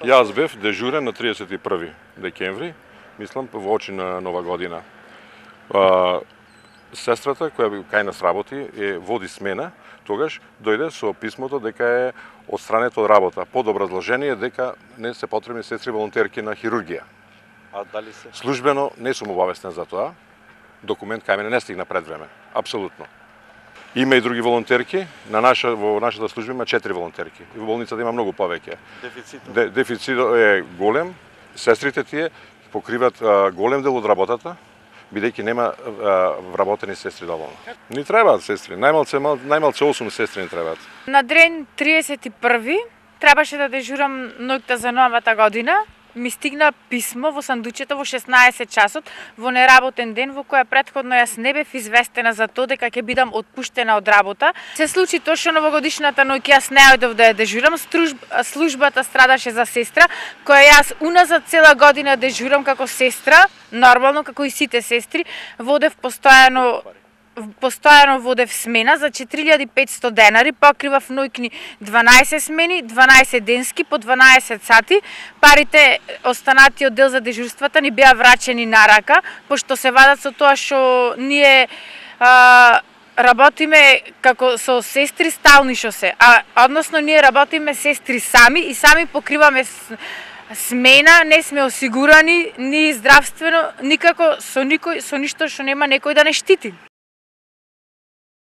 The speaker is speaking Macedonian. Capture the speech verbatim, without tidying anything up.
Јас бев дежурен на триесет и први декември, мислам во очи на Нова година. А, сестрата која кај нас работи е води смена, тогаш дојде со писмото дека е отстранета од работа под образложение дека не се потребни сестри волонтерки на хирургија. А дали се? Службено не сум обавестен за тоа. Документ кај мене не стигна пред време. Апсолутно. Има и други волонтерки. На наша во нашата служба има четири волонтерки. И во болницата има многу повеќе. Дефицитот? Де, дефицитот е голем. Сестрите тие покриват а, голем дел од работата, бидејќи нема а, вработени сестри доволно. Ни требаат сестри. Најмалце најмалце осум сестри ни требаат. На ден триесет и први требаше да дежурам ноќта за новата година. Ми стигна писмо во сандучето во шеснаесет часот во неработен ден во која претходно јас не бев известена за тоа дека ќе бидам отпуштена од работа. Се случи точно новогодишната ноќ јас не ојдов да ја дежурам, службата страдаше за сестра која јас уназад цела година дежурам како сестра, нормално како и сите сестри, водев постојано постојано водев смена за четири илјади и петсто денари, покривав ноќни дванаесет смени, дванаесет денски по дванаесет сати. Парите останати од дел за дежурствата ни беа врачени на рака, пошто се вадат со тоа што ние а, работиме како со сестри стални што се, а односно ние работиме сестри сами и сами покриваме смена, не сме осигурани ни здравствено, никако со никој, со ништо што нема некој да не штити.